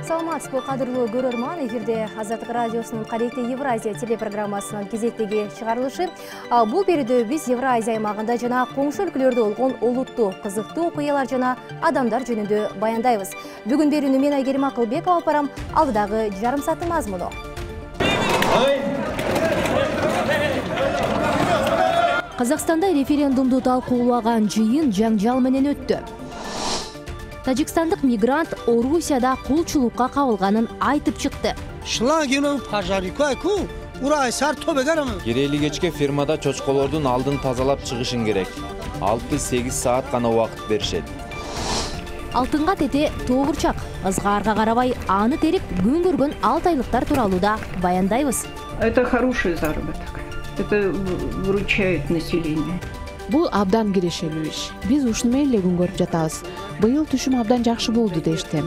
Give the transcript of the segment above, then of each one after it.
Саламатсызбы, кадырлуу көрөрман. Эфирде Азаттык радиосунун Кадетти Евразия телепрограммасынын кезектеги чыгарылышы. Бул берүүдө биз Евразия аймагында жана коңшу өлкөлөрдө болгон олуттуу, кызыктуу окуялар жана адамдар жөнүндө баяндайбыз. Бүгүн берүүнү мен Айгерим Акылбекова алып барам. Алдыдагы жарым сааттын мазмуну. Казакстанда референдумду талкуулаган жыйын жаңжал менен өттү. Тажикстандык мигрант Орусияда кулчулукка кабылганын айтып чыкты. Керели кечке фермада чочколордун алдын тазалап чыгышың керек. 6-8 саат гана убакыт беришет. Алтынга тете тоогурчак. Ызгаарга карабай аны терип күн көргөн 6 айлыктар тууралуу да баяндайбыз. Это хороший заработок. Это выручает население. Бул абдан кирешелүү иш. Биз ушуну менен эле күн көрүп жатабыз. Быйыл түшүм абдан жакшы болду дешти.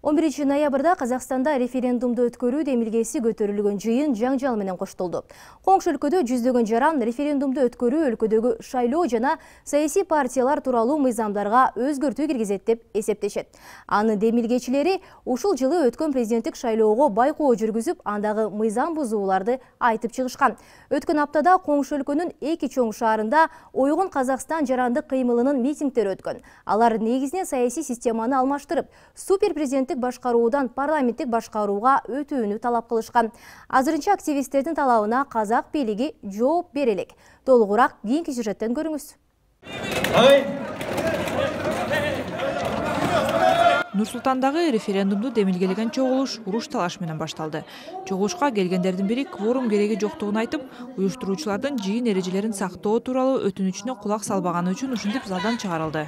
11 ноябрда Казакстанда референдумду өткөрүү демилгеси көтөрүлгөн жыйын жаңжал менен коштолду. Коңшу өлкөдө жүздөгөн жаран референдумду өткөрүү өлкөдөгү шайлоо жана саясий партиялар тууралуу мыйзамдарга өзгөртүү киргизет деп эсептешет. Анын демилгечилери ушул жылы өткөн президенттик шайлоого байкоо жүргүзүп, андагы мыйзам бузууларды айтып чыгышкан. Өткөн аптада коңшу өлкөнүн 2 чоң шаарында Ойгон Казакстан жарандык кыймылынын митингдери өткөн. Алар негизинен саясий системаны алмаштырып, супер президенттик башкаруудан парламенттик башкарууга өтүүнү талап кылышкан. Азырынча активисттердин талабына казак бийлиги жооп бере элек. Толугураак кийинки сюжеттен көрүңүз. Нур-Султандагы референдумду демилгелеген чогулуш уруш талаш менен башталды. Чогулушка келгендердин бири кворум кереги жоктугун айтып, уюштуруучулардын жыйын эрежелерин сактоо тууралуу өтүнүчүнө кулак салбаганы үчүн ушинтип залдан чыгарылды.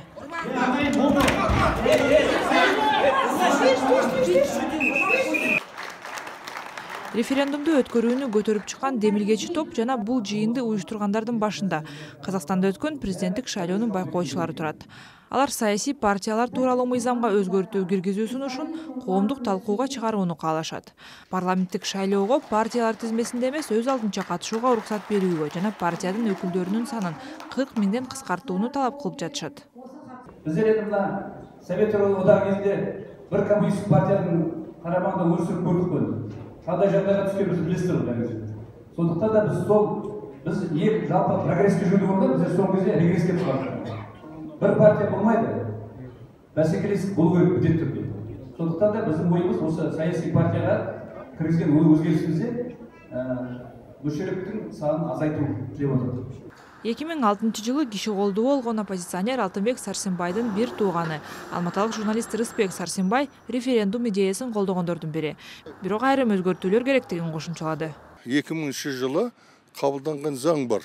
Референдумду өткөрүүнү көтөрүп чыккан демилгечи топ жана бул жыйынды уюштургандардын башында Казакстанда өткөн президенттик шайлоонун байкоочулары турат. Алар саясий партиялар тууралуу мыйзамга өзгөртүү киргизүү сунушун коомдук талкууга чыгарууну каалашат. Парламенттик шайлоого партиялар тизмесинде эмес, өз алдынча катышууга уруксат берүүгө жана партиянын өкүлдөрүнүн санын 40 миңден кыскартууну талап кылып жатышат. Биздер мына Совет одағы кезінде бір коммунистик партияның қарамағында өмір сүріп көрдік қой. Қандай жағдайға түскенімізді білесіздер ғой. Сондықтан да біз ең жалпы прогресске жүрдік орында, біздер соңғы кезде регресске түсіп. Бір партия болмайды. Бәсекелестік болу керек міндетті түрде. Сондықтан да біздің ойымыз осы саяси партияға кіргізген өзгерісімізде мүшеліктің санын азайту деп отыр. 2006 жылы киши колдоо болгон оппозиционер Алтынбек Сарсенбайдын бир тууганы, алматылык журналист Рысбек Сарсенбай референдум идеясын колдогондордун бири. Бирок айрым өзгөртүүлөр керектигин кошумчалады. 2000 жылы кабылданган заң бар.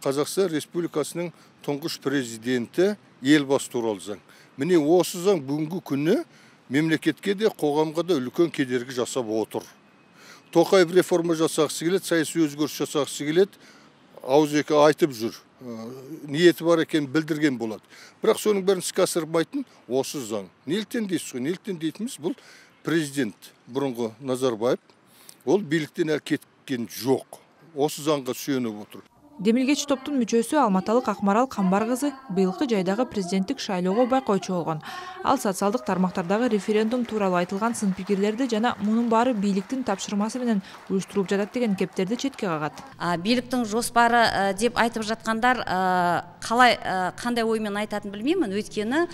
Казакстан Республикасынын туңгуш президенти Элбасы тууралуу заң. Міне осы заң бүгүнкү күнү мемлекетке де коомго да үлкөн кедерги жасап отур. Токаев реформа жасагысы келет, саясий өзгөрүш жасагысы келет. Ауызекі айтып жүр, ниеті бар екен білдірген болады. Бірақ соның бәрін іске асырмайтын осы заң. Неліктен дейсіз ғой? Неліктен дейтіміз бұл президент бұрынғы Назарбаев, ол биліктен әлі кеткен жоқ. Осы заңға сүйеніп отыр. Демилгечи топтун мүчөсү Алматылык Акмарал Камбар кызы быйылкы жайдагы президенттик шайлоого байкоочу болгон. Ал социалдык тармактардагы референдум тууралуу айтылган сын пикирлерди жана мунун баары бийликтин тапшырмасы менен уюштурулуп жатат деген кептерди четке кагат. Бийликтин жоспары деп айтып жаткандар кандай ой менен айтатын билбеймин. Өйткөнү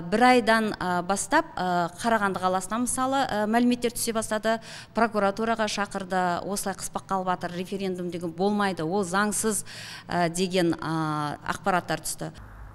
бир айдан бастап Караганды каласына мисалы маалиметтер түшө баштады. Прокуратурага шакырды. Осылай кыспак калбатыр, референдум деген болмайды. Ол заңсыз деген акпараттар түсті.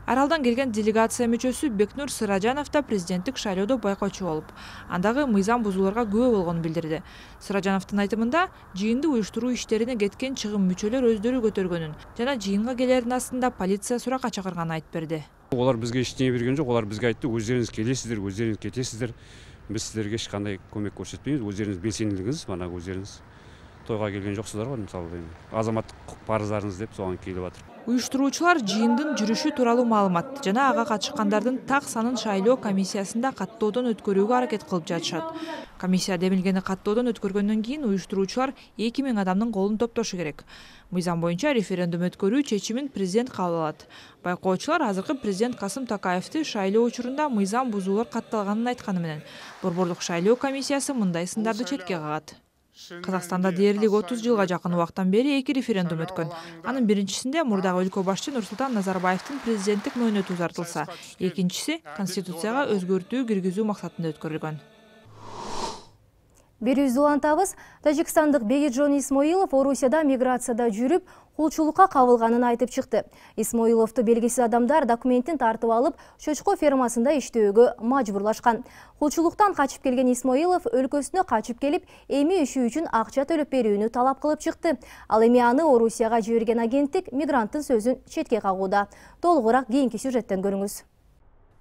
Аралдан келген делегация мүчөсү Бекнур Сыражанов да президенттик шайлоодо байкоочу болуп, андагы мыйзам бузууларга күбө болгонун билдирди. Сыражановдун айтымында, жыйынды уюштуруу иштерине кеткен чыгым мүчөлөр өздөрү көтөргөнүн жана жыйынга келердин астында полиция суракка чакырганын айтып берди. Олар бизге эчтене берген жок, олар бизге айтты, өздөрүңүз келесиздер, өздөрүңүз кетесиздер. Биз силерге эч кандай көмөк көрсөтпөйбүз, өздөрүңүз белсендилигиңиз, мана өздөрүңүз тойга келген жоксуздар го, мисалы азаматтык парыздарыңыз деп соған келип атыр. Уюштуруучулар жыйындын жүрүшү тууралуу маалымат жана ага катышкандардын так санын шайлоо комиссиясында каттоодон өткөрүүгө аракет кылып жатышат. Комиссия демилгени каттоодон өткөргөндөн кийин уюштуруучулар 2000 адамдын колун топтошу керек. Мыйзам боюнча референдум өткөрүү чечимин президент кабыл алат. Байкоочулар азыркы президент Касым Такаевди шайлоо учурунда мыйзам бузуулар катталганын айтканы менен Борбордук шайлоо комиссиясы мындай сындарды четке кагат. Казакстанда дээрлик 30 жылга жакын убактан бери 2 референдум өткөн. Анын биринчисинде мурдагы өлкө башчы Нурсултан Назарбаевдин президенттик мөөнөтү узартылса, экинчиси конституцияга өзгөртүү киргизүү максатында өткөрүлгөн. Берүүбүздү улантабыз. Тажикстандык Бегиджон Исмоилов Орусияда миграцияда жүрүп, кулчулукка кабылганын айтып чыкты. Исмоиловду белгисиз адамдар документин тартып алып, чочко фермасында иштөөгө мажбурлашкан. Кулчулуктан качып келген Исмоилов өлкөсүнө качып келип, эми иши үчүн акча төлөп берүүнү талап кылып чыкты. Ал эми аны Орусияга жиберген агенттик мигранттын сөзүн четке кагууда. Толугураак кийинки сюжеттен көрүңүз.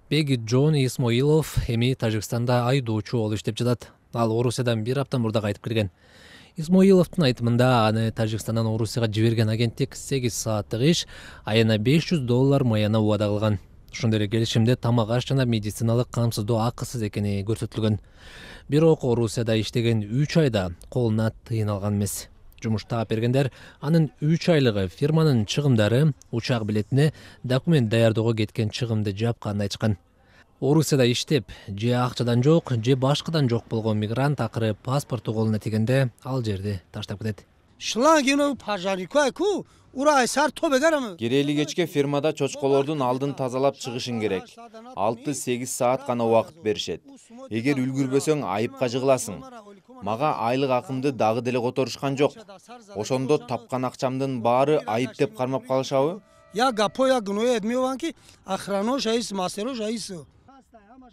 Бегиджон Исмоилов эми Тажикстанда айдоочу болуп иштеп жатат. Ал Орусиядан бир апта мурда кайтып келген. Исмоиловдун айтымында аны Тажикстандан Орусияга жиберген агенттик 8 сааттык иш, айына $500 маяна убада кылган. Ошондой эле келишимде тамак аш жана медициналык камсыздоо акысыз экени көрсөтүлгөн. Бирок Орусияда иштеген 3 айда колуна тыйын алган эмес. Жумуш таап бергендер анын 3 айлыгы фирманын чыгымдары, учак билетине, документ даярдоого кеткен чыгымды жапканын айтышкан. Орусияда иштеп, же акчадан жок, же башкадан жок болгон мигрант акыры паспорту колуна тигенде ал жерди таштап кетет. Керели кечке фермада чочколордун алдын тазалап чыгышың керек. 6-8 саат гана убакыт беришет. Эгер үлгүрбөсөң айыпка жыгыласың. Мага айлык акымды дагы деле которушкан жок. Ошондо тапкан акчамдын баары айып деп кармап калышабы?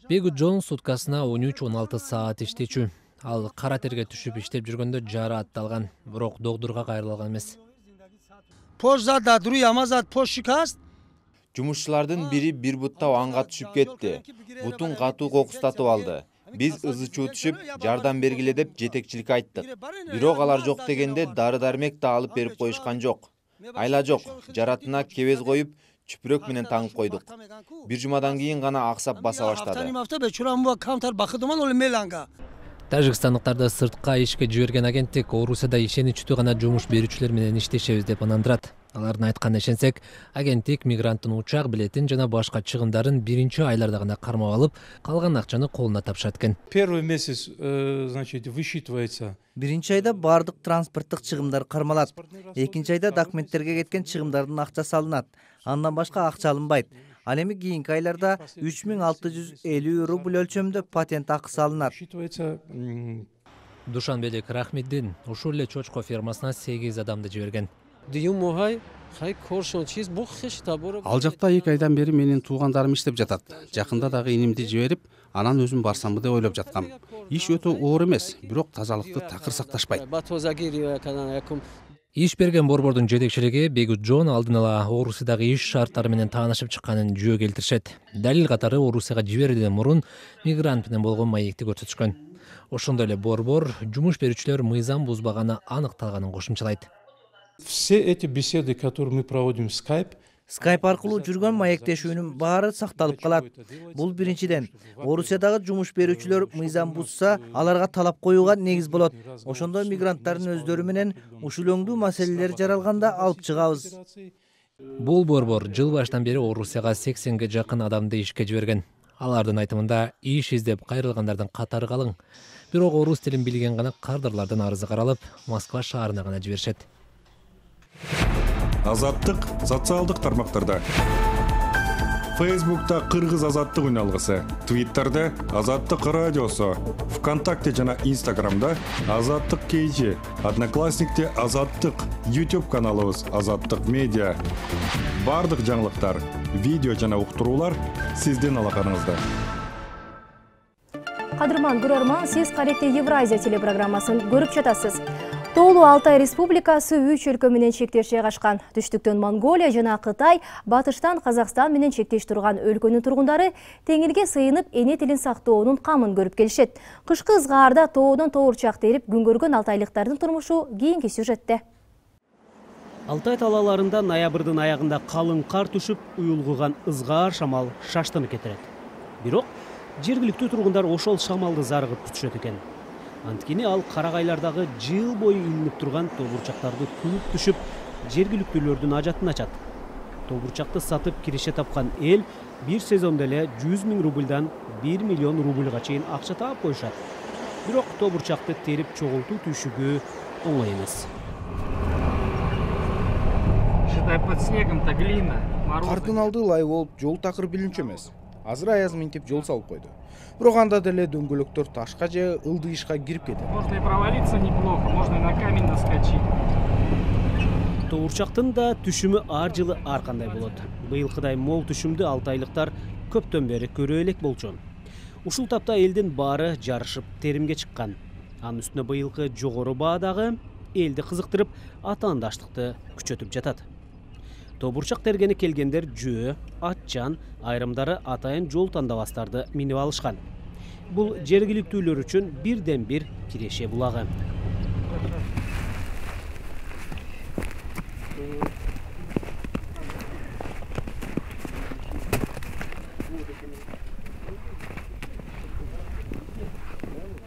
Бегиджон суткасына 13-16 саат иштечү. Ал кара терге түшүп иштеп жүргөндө жара атталган, бирок догдурга кайрылган эмес. Жумушчулардын бири бир бутта анга түшүп кетти. Бутун катуу кокустатып алды. Биз ызы-чуу түшүп, жардам бергиле деп жетекчиликке айттык. Бирок алар жок дегенде дары-дармек да алып берип коюшкан жок. Айла жок, жаратына кебез коюп, чүпүрөк менен таңып койдук. Бир жумадан кийин гана аксап баса баштады. Тажикстандыктарды сыртка ишке жиберген агенттик Орусияда ишеничтүү гана жумуш берүүчүлөр менен иштешебиз деп ынандырат. Алардын айтканына ишенсек, агенттик мигранттын учак билетин жана башка чыгымдарын биринчи айларда гана кармап алып, калган акчаны колуна тапшырат экен. Первый месяц, значит, высчитывается. Биринчи айда бардык транспорттук чыгымдар кармалат. Экинчи айда документтерге кеткен чыгымдардын акчасы алынат. Андан башка акча алынбайт. Ал эми кийинки айларда 3650 рубль өлчөмдө патент акысы алынат. Душанбедик Рахмиддин ушул эле чочко фермасына 8 адамды жиберген. Ал жакта 2 айдан бери менин туугандарым иштеп жатат. Жакында дагы инимди жиберип, анан өзүм барсамбы деп ойлоп жаткам. Иш өтө оор эмес, бирок тазалыкты такыр сакташпайт. Иш берген борбордун жетекчилиги Бегиджон алдын ала Орусиядагы иш шарттары менен таанышып чыкканын жөө келтиришет. Далил катары Орусияга жиберүүдөн мурун мигрант менен болгон маекти көрсөтүшкөн. Ошондой эле борбор жумуш берүүчүлөр мыйзам бузбаганы аныкталганын кошумчалайт. Все эти беседы, которые мы проводим в Skype, Skype аркылуу жүргөн маектешүүнүн баары сакталып калат. Бул биринчиден, Орусиядагы жумуш берүүчүлөр мыйзам бузса, аларга талап коюуга негиз болот. Ошондо мигранттардын өздөрү менен ушул өңдүү маселелер жаралганда алып чыгабыз. Бул борбор жыл башынан бери Орусияга 80ге жакын адамды ишке жиберген. Алардын айтымында иш издеп кайрылгандардын катары калың. Бирок орус тилин билген гана кардырлардын арызы каралып, Москва шаарына гана жиберишет. Азаттык социалдык тармактарда. Facebook'ta Кыргыз азаттык үналгысы, Twitter'da Азаттык радиосу, ВКонтакте жана Instagram'da Азаттык KG, Одноклассникте Азаттык, YouTube каналыбыз Азаттык медиа. Бардык жаңылыктар, видео жана уктуруулар сиздин алаканыңызда. Кадырман көрөрман, сиз Каретте Евразия телепрограммасын көрүп жатасыз. Тоолуу Алтай Республикасы 3 өлкө менен чектеш жайгашкан. Түштүктөн Монголия жана Кытай, батыштан Казакстан менен чектеш турган өлкөнүн тургундары теңирге сыйынып эне тилин сактоонун камын көрүп келишет. Кышкы ызгаарда тоодон тоорчак терип күн көргөн алтайлыктардын турмушу кийинки сюжетте. Алтай талааларында ноябрдын аягында калың кар түшүп, уюлгуган ызгаар шамал шаштынып кетирет. Бирок жергиликтүү тургундар ошол шамалды зарыгып күтүшөт экен. Анткени ал карагайлардагы жыл бою илинип турган тобурчактарды кууп түшүп, жергиликтүүлөрдүн ажатын ачат. Тобурчакты сатып киреше тапкан эл бир сезондо эле 100 000 рубльдан 1 миллион рубльга чейин акча таап коюшат. Бирок тобурчакты терип чогултуу түйшүгү оңой эмес. Кардын алды лай болуп, жол такыр билинчү эмес. Азыр аяз минтип жол салып койду. Бирок анда деле дөңгөлөктөр ташка же ылдыйышка кирип кетет. Можно и провалиться неплохо, можно и на камень наскочить. Тобурчактын да түшүмү ар жылы ар кандай болот. Быйылкыдай мол түшүмдү алтайлыктар көптөн бери көрө элек болчу. Ушул тапта элдин баары жарышып теримге чыккан. Анын үстүнө быйылкы жогору баа дагы элди кызыктырып, атаандаштыкты күчөтүп жатат. Тобурчак тергени келгендер жөө, атчан, айрымдары атайын жол тандабастарды минип алышкан. Бул жергиликтүүлөр үчүн бирден бир киреше булагы.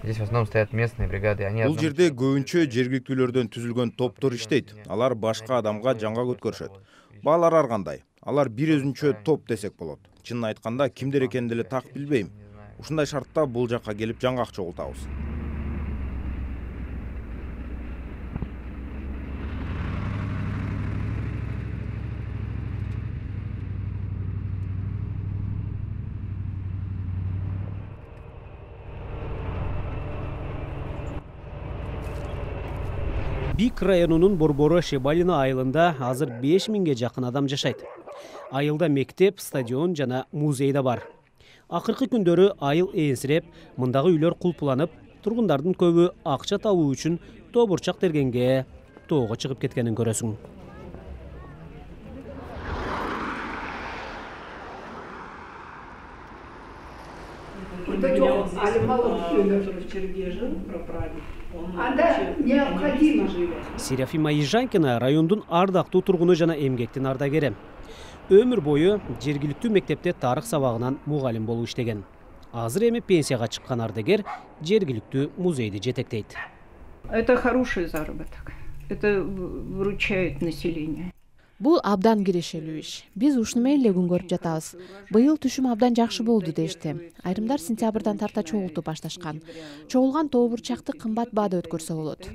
Здесь в основном стоят местные бригады. Бул жерде көбүнчө жергиликтүүлөрдөн түзүлгөн топтор иштейт. Алар башка адамга жаңга көткөрүшөт. Баалар ар кандай. Алар бир өзүнчө топ десек болот. Чынын айтканда кимдер экенин деле так билбейм. Ушундай шартта бул жакка келип жаңгак чогултабыз. Бик районунун Борбору Шебалина айылында азыр 5000ге жакын адам жашайт. Айылда мектеп, стадион жана музей да бар. Акыркы күндөрү айыл ээсиреп, мындагы үйлөр кулпуланып, тургундардын көбү акча табуу үчүн тобурчак тергенге тоого чыгып кеткенин көрөсүң. Серафима Ежанкина райондун ардактуу тургуну жана эмгектин ардагери. Өмүр бою жергиликтүү мектепте тарых сабагынан мугалим болуп иштеген. Азыр эми пенсияга чыккан ардагер жергиликтүү музейди жетектейт. Это хороший заработок. Это выручает население. Бул абдан кирешелүү иш. Биз ушуну менен эле күн көрүп жатабыз. Быйыл түшүм абдан жакшы болду дешти. Айрымдар сентябрдан тарта чогултуп башташкан. Чогулган тобурчакты кымбат баада өткөрсө болот.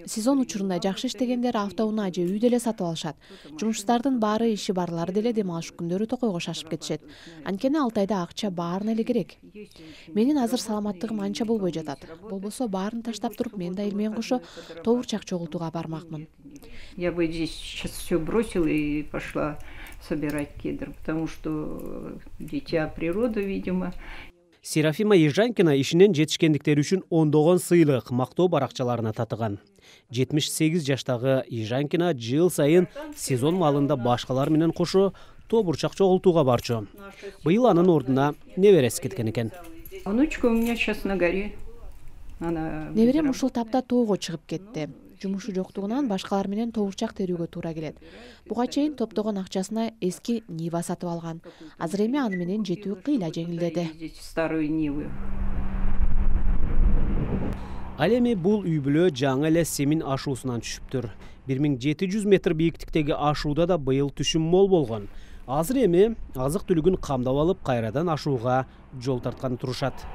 Сезон учурунда жакшы иштегендер автоунаа же үй деле сатып алышат. Жумуштардын баары иши барлары деле дем алыш күндөрү токойго шашып кетишет. Анткени Алтайда акча баарына эле керек. Менин азыр саламаттыгым анча болбой жатат. Болбосо баарын таштап туруп мен да эл менен кошо тобурчак чогултууга бармакмын. Я бы здесь сейчас все бросила и пошла собирать кедр, потому что дитя природы, видимо. Серафима Ежанкина ишинен жетишкендиктери үчүн ондогон сыйлык, мактоо баракчаларына татыган. 78 жаштагы Ежанкина жыл сайын сезон малында башкалар менен кошо тобурчак чогултууга барчу. Быйыл анын ордуна небереси кеткен экен. Внучка у меня сейчас на горе. Неберем ушул тапта тоого чыгып кетти. Жумушу жоктугунан башкалар менен тобурчак терүүгө туура келет. Буга чейин топтогон акчасына эски Нива сатып алган. Азыр эми аны менен жетүү кыйла жеңилдеди. Старую Ниву. Ал эми бул үй бүлө жаңы эле Семин ашуусунан түшүптүр. 1700 метр бийиктиктеги ашууда да быйыл түшүм мол болгон. Азыр эми азык түлүгүн камдап алып, кайрадан ашууга жол тартканы турушат.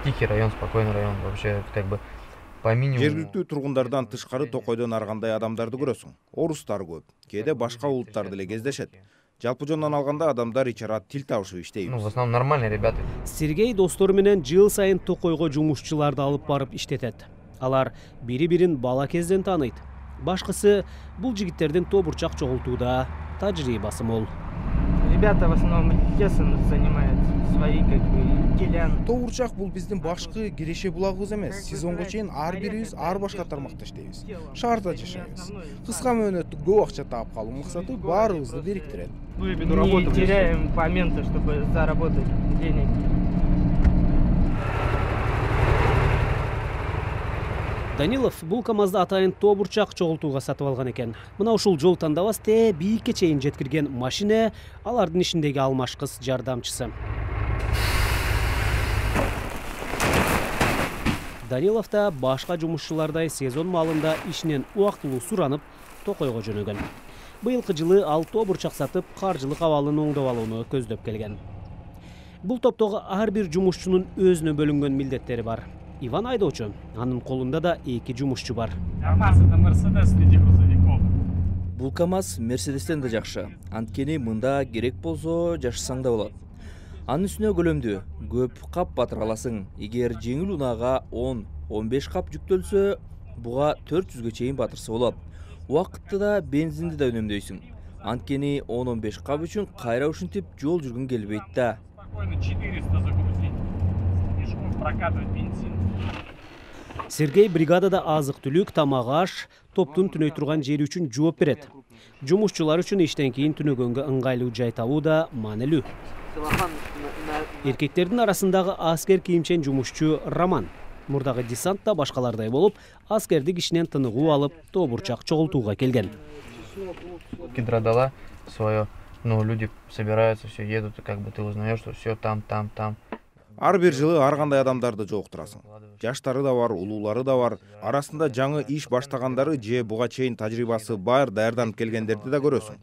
Тихий район, спокойный район, вообще как бы по минимуму. Жергиликтүү тургундардан тышкары токойдон ар кандай адамдарды көрөсүң. Орустар көп, кээде башка улуттар деле кездешет. Жалпы жондан алганда адамдар ичара тил табышып иштейбиз. Ну, в основном нормальные ребята. Сергей достору менен жыл сайын токойго жумушчуларды алып барып иштетет. Алар бири-бирин бала кезден тааныйт. Башкысы бул жигиттердин тобурчак чогултууда тажрыйбасы мол. Ребята в основном лесом занимаются, свои как бы делян. Тобурчак бул биздин башкы киреше булагыбыз эмес. Сезонго чейин ар бирибиз ар башка тармакта иштейбиз. Шаарда жашайбыз. Кыска мөөнөттүк көп акча таап калуу максаты баарыбызды бириктирет. Не теряем момента, чтобы заработать денег. Данилов бул КамАЗды атайын тобурчак чогултууга сатып алган экен. Мына ушул жол тандабас биикке чейин жеткирген машина алардын ишиндеги алмашкыс жардамчысы. Данилов да башка жумушчулардай сезон маалында ишинен убактылуу суранып, токойго жөнөгөн. Быйылкы жылы ал тоо бурчак сатып, каржылык абалын оңдоп алууну көздөп келген. Бул топтогу ар бир жумушчунун өзүнө бөлүнгөн милдеттери бар. Иван айдоочу, анын колунда да 2 жумушчу бар. Бул КАМАЗ Мерседестен да жакшы. Анткени мында керек болсо жашасаң да болот. Анын үстүнө көлөмдүү, көп кап батыра аласың. Эгер жеңил унаага 10-15 кап жүктөлсө, буга 400ге чейин батырса болот. Убакытты да, бензинди да үнөмдөйсүң. Анткени 10-15 кап үчүн кайра ушинтип жол жүргүн келбейт да. Сергей бригадада азык-түлүк, тамак аш, топтун түнөй турган жери үчүн жооп берет. Жумушчулар үчүн иштен кийин түнөгөнгө ыңгайлуу жай табуу да маанилүү. Эркектердин арасындагы аскер кийимчен жумушчу Роман. Мурдагы десант да башкалардай болуп, аскердик ишинен тыныгуу алып, тоо бурчак чогултууга келген. Кедрадала свое, но люди собираются, все едут, и как бы ты узнаешь, что все там. Ар бир жылы ар кандай адамдарды жолуктурасың. Жаштары да бар, улуулары да бар. Арасында жаңы иш баштагандары же буга чейин тажрыйбасы бар даярданып келгендерди да көрөсүң.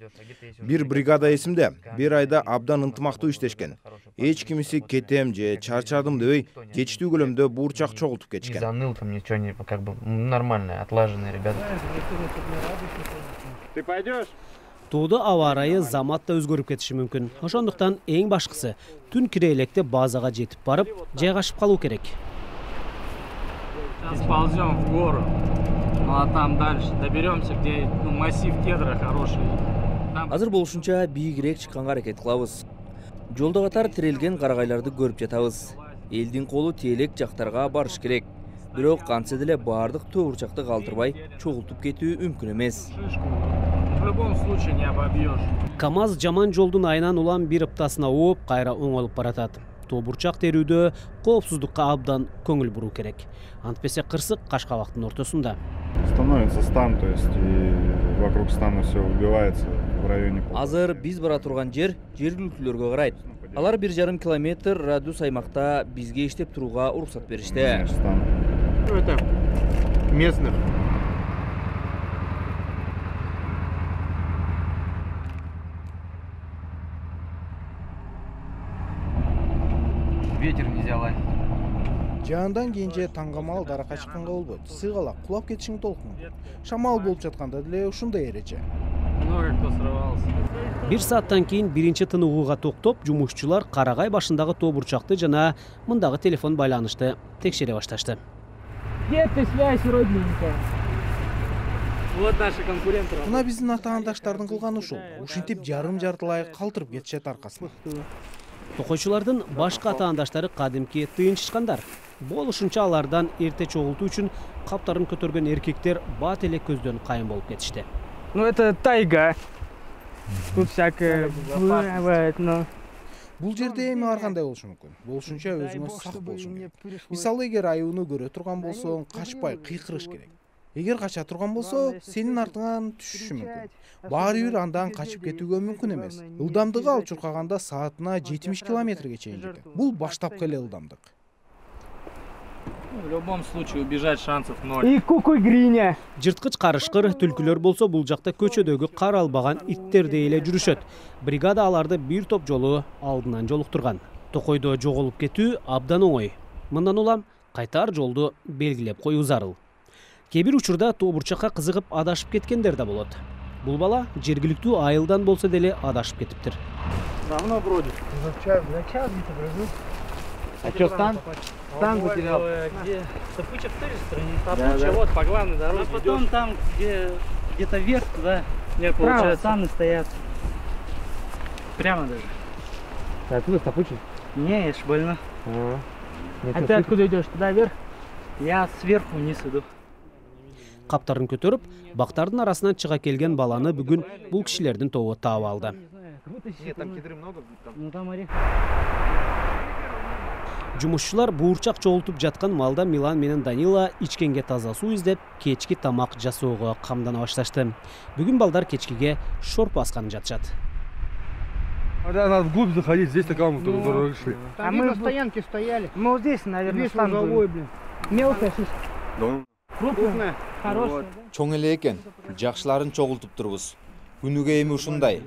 Бир бригада эсимде, бир айда абдан ынтымактуу иштешкен. Эч кимиси кетем же чарчадым дебей, жетиштүү көлөмдө бурчак чогултуп кетишкен. Заныл там ничего не, как бы нормальные, отлаженные ребята. Ты пойдешь? Тоодо аба ырайы замат да өзгөрүп кетиши мүмкүн. Ошондуктан эң башкысы түн кире электе базага жетип барып, жайгашып калуу керек. Сползем в гору, ну а там дальше доберемся, где массив кедра хороший. Азыр болушунча бийигирээк чыкканга аракет кылабыз. Жолдо катар тирелген карагайларды көрүп жатабыз. Элдин колу теелек жактарга барыш керек. Бирок кантсе деле баардык тоо бурчакты калтырбай чогултуп кетүү мүмкүн эмес. В любом случае не обобьешь. КАМАЗ жаман жолдун айынан улам бир ыптасына ооп, кайра оңолуп баратат. Тоо бурчак терүүдө коопсуздукка абдан көңүл буруу керек. Антпесе кырсык Кашкабактын ортосунда. Становится стан, то есть и вокруг стана все убивается в районе. Азыр биз бара турган жер жергиликтүүлөргө карайт. Алар 1,5 километр радиус аймакта бизге иштеп турууга уруксат беришти. Это местных. Ветер нельзя лазить. Жаандан кийин же таңгамал даракка чыкканга болбойт. Сыйгалак кулап кетишиң толкун. Шамал болуп жатканда деле ушундай эреже. Много кто срывался. 1 сааттан кийин биринчи тыныгууга токтоп, жумушчулар карагай башындагы тоо бурчакты жана мындагы телефон байланышты текшере башташты. Где ты связь родненькая? Вот наши конкуренты. Мына биздин атаандаштардын кылганы ушул. Ушинтип жарым-жартылай калтырып кетишет аркасына. Токойчулардын башка атаандаштары кадимки тыйынчышкандар. Болушунча алардан эрте чогултуу үчүн каптарын көтөргөн эркектер бат эле көздөн кайын болуп кетишти. Ну это тайга. Тут всякое бывает, но... Бул жерде эми ар кандай болушу мүмкүн. Болушунча өзүңө сак болушуң керек. Мисалы, эгер аюуну көрө турган болсоң, качпай кыйкырыш керек. Эгер кача турган болсо, сенин артыңан түшүшү мүмкүн. Баары бир андан качып кетүүгө мүмкүн эмес. Ылдамдыгы ал чуркаганда саатына 70 километрге чейин жетет. Бул баштапкы эле ылдамдык. В любом случае убежать шансов 0. И кукуй-гриня. Жырткыч карышкыр түлкүлөр болсо бул жакта көчөдөгү кар албаган иттердей эле жүрүшөт. Бригада аларды бир топ жолу алдынан жолуктурган. Токойдо жоголуп кетүү абдан оңой. Мындан улам кайтар жолду белгилеп коюу зарыл. Кээ бир учурда тоо бурчакка кызыгып адашып кеткендер да болот. Бул бала жергиликтүү айылдан болсо деле адашып кетиптир. Давно бродит. За час где-то бродил. А что, стан? Стан потерял. Где? Топычек в той стороне. Топычек, вот по главной дороге. А потом там, где-то вверх туда. Нет, получается. Станы стоят. Прямо даже. Ты откуда Топычек? Не, я ж больно. А ты откуда идешь? Туда вверх? Я сверху вниз иду. Каптарын көтөрүп, бактардын арасынан чыга келген баланы бүгүн бул кишилердин тобу таап алды. Жумушчулар буурчак чогултуп жаткан малда Милан менен Данила ичкенге таза суу издеп, кечки тамак жасоого камдана башташты. Бүгүн балдар кечкиге шорпу асканып жатышат. Надо вглубь заходить, здесь такая мы туда шли. А мы на стоянке стояли. Мы вот здесь, наверное, станк был. Мелкая, слушай. Крупная, хорошая. Чоң эле экен, жакшыларын чогултуп турбуз. Күнүгө эми ушундай.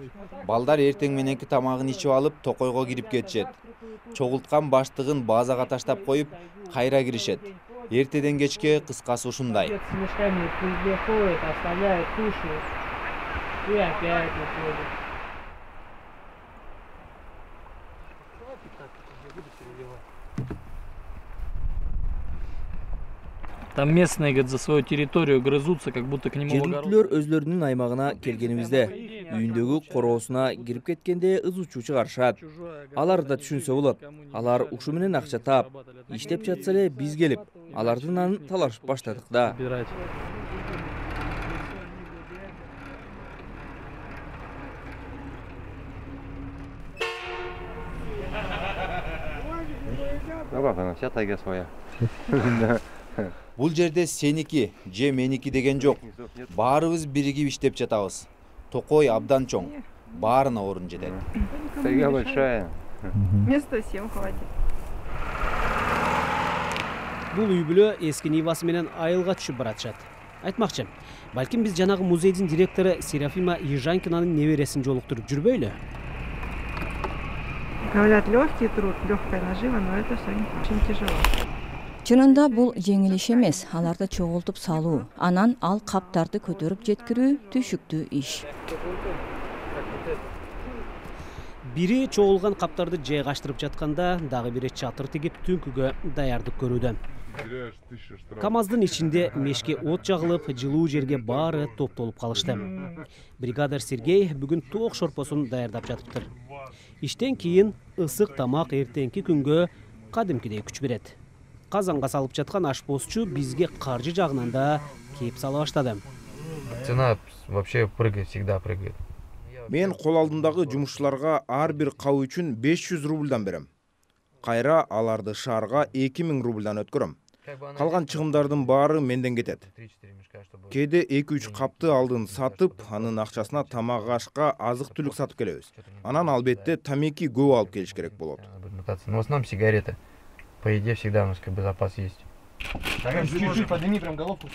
Балдар эртең мененки тамагын ичип алып, токойго кирип кетишет. Чогулткан баштыгын базага таштап коюп, кайра киришет. Эртеден кечке кыскасы ушундай. С мешками приходят, оставляют, кушают. И опять выходят. Там местные, говорит, за свою территорию грызутся, как будто к нему в огород. Жергиликтүүлөр өздөрүнүн аймагына келгенимизде үйүндөгү короосуна кирип кеткенде ызы-чуу чыгарышат. Алар да түшүнсө болот. Алар ушу менен акча таап, иштеп жатса эле биз келип, алардын анын талашып баштадык да. Вся тайга своя. Бул жерде сеники же меники деген жок. Баарыбыз биригип иштеп жатабыз. Токой абдан чоң. Баарына орун жетет. Тайга большая. Места всем хватит. Бул үй бүлө эски Нивасы менен айылга түшүп баратышат. Айтмакчы, балким биз жанагы музейдин директору Серафима Ежанкинанын небересин жолуктуруп жүрбөйлү? Говорят, легкий труд, легкая нажива, но это все очень тяжело. Чынында бул жеңил иш эмес, аларды чогултуп салуу, анан ал каптарды көтөрүп жеткирүү түйшүктүү иш. Бири чогулган каптарды жайгаштырып жатканда, дагы бири чатыр тигип түнкүгө даярдык көрүүдө. КамАЗдын ичинде мешке от жагылып, жылуу жерге баары топтолуп калышты. Бригадир Сергей бүгүн тоок шорпосун даярдап жатыптыр. Иштен кийин ысык тамак эртеңки күнгө кадимкидей күч берет. Казанга салып жаткан ашпозчу бизге каржы жагынан да кеп сала баштады. Цена вообще прыгает, всегда прыгает. Мен кол алдындагы жумушчуларга ар бир кабы үчүн 500 рубльдан берем. Кайра аларды шаарга 2000 рубльдан өткөрөм. Калган чыгымдардын баары менден кетет. Кээде 2-3 капты алдын сатып, анын акчасына тамак ашка азык-түлүк сатып келебиз. Анан албетте тамеки көп алып келиш керек болот. В основном сигареты. По еде всегда у нас как бы запас есть. Чуть-чуть подними прям головку.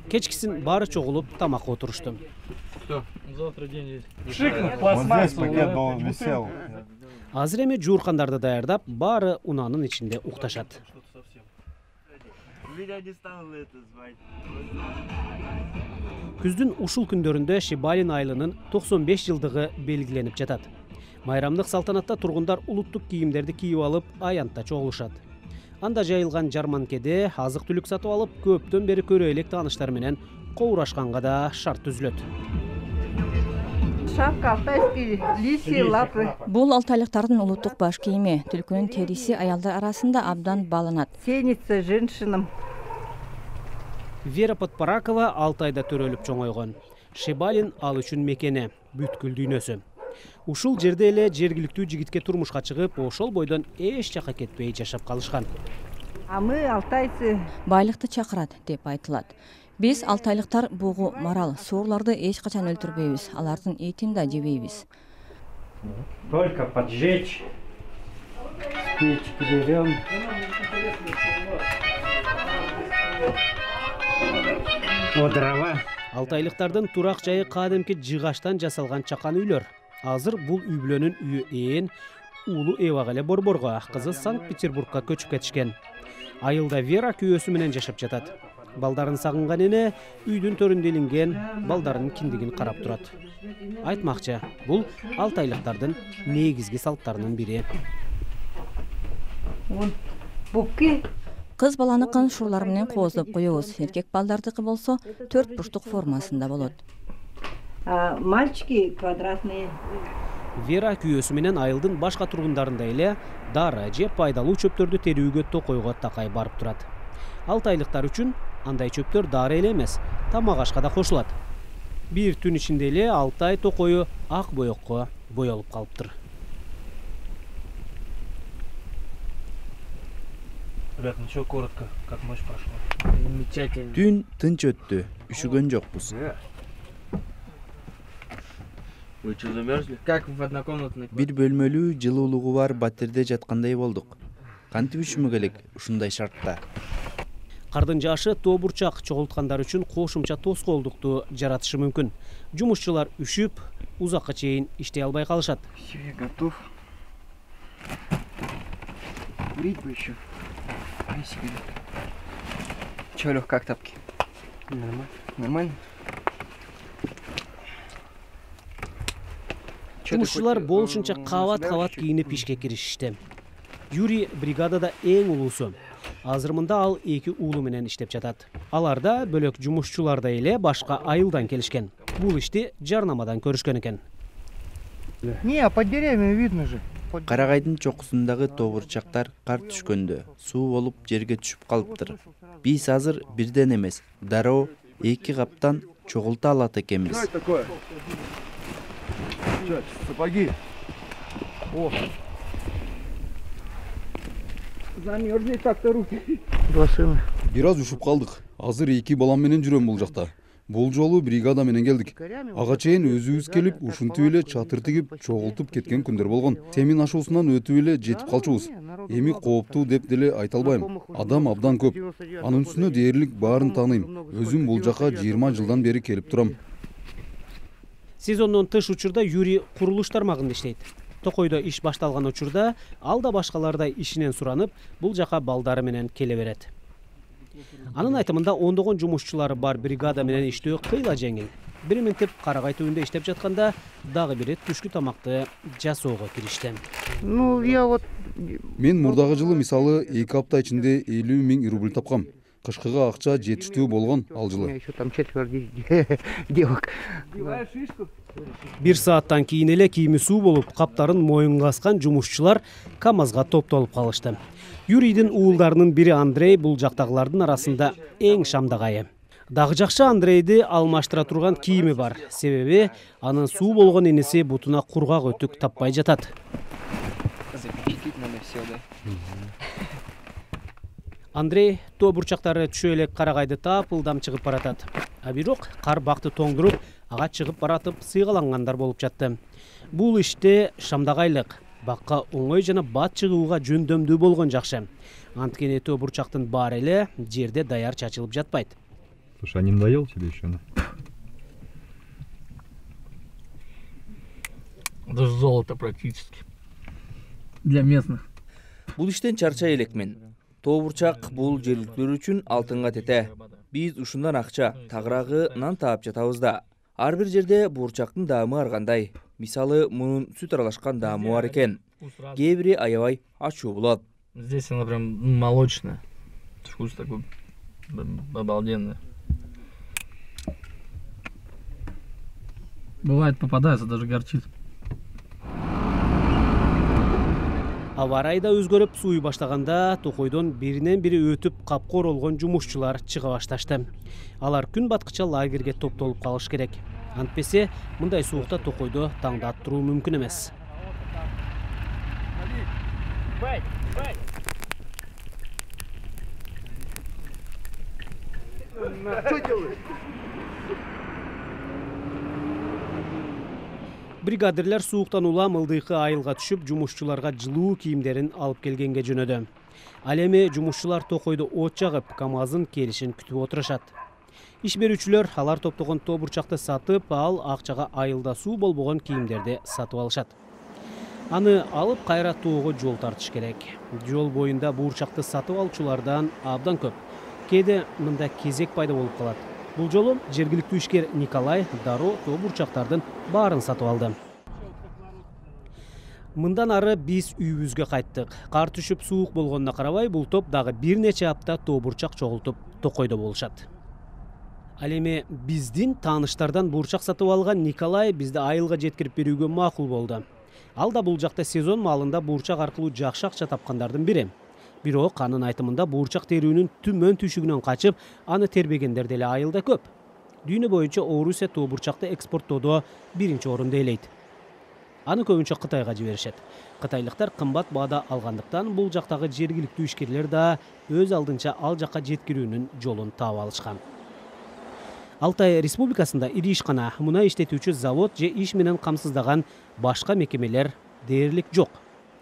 Кечкисин баары чогулуп тамакка отурушту. Завтра день есть. Вот здесь пакет должен висел. Азыр эми жууркандарды даярдап, баары унаанын ичинде укташат. Күздүн ушул күндөрүндө Шибалин айылынын 95 жылдыгы белгиленип жатат. Майрамдык салтанатта тургундар улуттук кийимдерди кийип алып, аянтта чогулушат. Анда жайылган жарманкеде азык-түлүк сатып алып, көптөн бери көрө элек тааныштар менен коурашканга да шарт түзүлөт. Шапка, алтайский, лисьи лапы. Бул алтайлыктардын улуттук баш кийими, түлкүнүн териси аялдар арасында абдан бааланат. Ценится женщинам. Вера Подпаракова Алтайда төрөлүп чоңойгон. Шибалин ал үчүн мекени, бүткүл дүйнөсү. Ушул жерде эле жергиликтүү жигитке турмушка чыгып, ошол бойдон эч жака кетпей жашап калышкан. А мы алтайцы. Байлыкты чакырат деп айтылат. Биз алтайлыктар бугу, марал, суурларды эч качан өлтүрбөйбүз, алардын этин да жебейбиз. Только поджечь. Спички берем. Вот дрова. Алтайлыктардын турак жайы кадимки жыгаштан жасалган чакан үйлөр. Азыр бул үй бүлөнүн үйү ээн уулу Эвага эле Борборго, кызы Санкт-Петербургка көчүп кетишкен. Айылда Вера күйөөсү менен жашап жатат. Балдарын сагынган эне үйдүн төрүндө илинген балдарынын киндигин карап турат. Айтмакчы, бул алтайлыктардын негизги салттарынын бири. Кыз баланыкын шурлар менен кооздоп коебуз. Эркек балдардыкы болсо 4 бурчтук формасында болот. Мальчики квадратные. Вера күйөөсү менен айылдын башка тургундарындай эле дары же пайдалуу чөптөрдү терүүгө токойго такай барып турат. Алтайлыктар үчүн андай чөптөр дары эле эмес, тамак ашка да кошулат. Бир түн ичинде эле Алтай токою ак боекко боелуп калыптыр. Ребят, ничего коротко, как ночь прошла. Замечательно. Түн тынч өттү, үшүгөн жокпуз. Вы что, замерзли? Как в однокомнатной? Бир бөлмөлүү жылуулугу бар батирде жаткандай болдук. Кантип үшүмө келек ушундай шартта? Кардын жаашы тоо бурчак чогулткандар үчүн кошумча тоскоолдукту жаратышы мүмкүн. Жумушчулар үшүп, узакка чейин иштей албай калышат. Все, я готов. Курить бы еще. Че, Лёх, как тапки? Нормально. Нормально? Жумушчулар болушунча кабат кийинип ишке киришишти. Юрий бригадада эң улуусу. Азыр мында ал 2 уулу менен иштеп жатат. Аларда бөлөк жумушчуларда эле башка айылдан келишкен. Бул ишти жарнамадан көрүшкөн экен. Не, под деревьями видно же. Карагайдын чокусундагы тобурчактар кар түшкөндө суу болуп жерге түшүп калыптыр. Биз азыр бирден эмес, дароо 2 каптан чогулта алат экенбиз. Что это такое? Что, сапоги? О! Замерзли так-то руки. Бир аз ушуп калдык. Азыр 2 балам менен жүрөм бул жакта. Бул жолу бригада менен келдик. Ага чейин өзүбүз келип, ушинтип эле чатыр тигип, чогултуп кеткен күндөр болгон. Темин ашуусунан өтүп эле жетип калчубуз. Эми кооптуу деп деле айта албайм. Адам абдан көп. Анын үстүнө дээрлик баарын тааныйм. Өзүм бул жака 20 жылдан бери келип турам. Сезондон тыш учурда Юрий курулуш тармагында иштейт. Токойдо иш башталган учурда ал да башкалардай ишинен суранып, бул жака балдары менен келе берет. Анын айтымында ондогон жумушчулары бар бригада менен иштөө кыйла жеңил. Бир минтип Карагай түбүндө иштеп жатканда дагы бири түшкү тамакты жасоого киришти. Ну, я вот... Мен мурдагы жылы мисалы 2 апта ичинде 50 000 рубль тапкам. Кышкыга акча жетиштүү болгон ал жылы. Еще там 4 девок. Бир сааттан кийин эле кийими суу болуп, каптарын моюнга аскан жумушчулар КамАЗга топтолуп калышты. Юрийдин уулдарынын бири Андрей бул жактагылардын арасында эң шамдагайы. Дагы жакшы Андрейди алмаштыра турган кийими бар. Себеби анын суу болгон энеси бутуна кургак өтүк таппай жатат. Андрей тоо бурчактары түшө элек Карагайды таап ылдам чыгып баратат. А бирок кар бакты тоңдуруп, ага чыгып баратып сыйгалангандар болуп жатты. Бул иште шамдагайлык, бакка оңой жана бат чыгууга жөндөмдүү болгон жакшы. Анткени тоо бурчактын баары эле жерде даяр чачылып жатпайт. Слушай, а не надоел тебе еще? Это золото практически. Для местных. Бул иштен чарчай элекмин. Тоо бурчак бул жергиликтүүлөр үчүн алтынга тете. Биз ушундан акча, тагыраагы нан таап жатабыз да. Ар бир жерде бурчактын даамы ар кандай. Мисалы, мунун сүт аралашкан даамы бар экен. Кээ бири аябай ачуу болот. Здесь она прям молочная. Вкус такой обалденный. Бывает попадается, даже горчит. Аба райда өзгөрүп сууй баштаганда Токойдон биринен бири өтүп капкор болгон жумушчулар чыга башташты. Алар күн баткыча лагерге топтолуп калыш керек. Антпесе мындай суукта Токойдо таңда туруу мүмкүн эмес. Бригадирлер сууктан улам ылдыйкы айылга түшүп, жумушчуларга жылуу кийимдерин алып келгенге жөнөдү. Ал эми жумушчулар Токойдо от жагып, КамАЗдын келишин күтүп отурушат. Иш берүүчүлөр алар топтогон тоо бурчакты сатып, ал акчага айылда суу болбогон кийимдерди сатып алышат. Аны алып кайра тоого жол тартыш керек. Жол боюнда бурчакты сатып алуучулардан абдан көп. Кээде мында кезек пайда болуп калат. Бул жолу жергиликтүү ишкер Николай дароо тоо бурчактардын баарын сатып алды. Мындан ары биз үйүбүзгө кайттык. Кар түшүп суук болгонуна карабай, бул топ дагы бир нече апта тоо бурчак чогултуп Токойдо болушат. Ал эми биздин тааныштардан бурчак сатып алган Николай бизди айылга жеткирип берүүгө макул болду. Ал да бул жакта сезон маалында бурчак аркылуу жакшы акча тапкандардын бири. Бирок анын айтымында бурчак терүүнүн түмөн түйшүгүнөн качып, аны тербегендер деле айылда көп. Дүйнө боюнча Орусия тоо бурчакты экспорттоодо биринчи орунду ээлейт. Аны көбүнчө Кытайга жиберишет. Кытайлыктар кымбат баада алгандыктан бул жактагы жергиликтүү ишкерлер да өз алдынча ал жакка жеткирүүнүн жолун таап алышкан. Алтай Республикасында ири ишкана, мунай иштетүүчү завод же иш менен камсыздаган башка мекемелер дээрлик жок.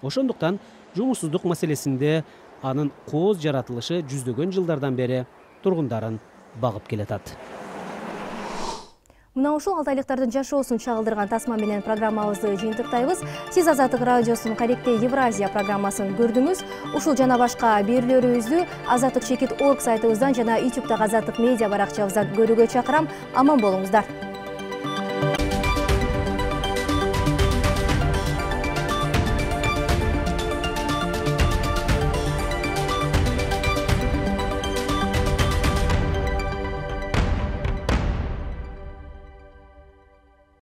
Ошондуктан жумушсуздук маселесинде анын кооз жаратылышы жүздөгөн жылдардан бери тургундарын багып келатат. Мына ушул алтайлыктардын жашоосун чагылдырган тасма менен программабызды жыйынтыктайбыз. Сиз Азаттык радиосунун Каректе Евразия программасын көрдүңүз. Ушул жана башка берүүлөрүбүздү Азаттык Чекит.org сайтыбыздан жана YouTube'дагы Азаттык медиа баракчабыздан көрүүгө чакырам. Аман болуңуздар.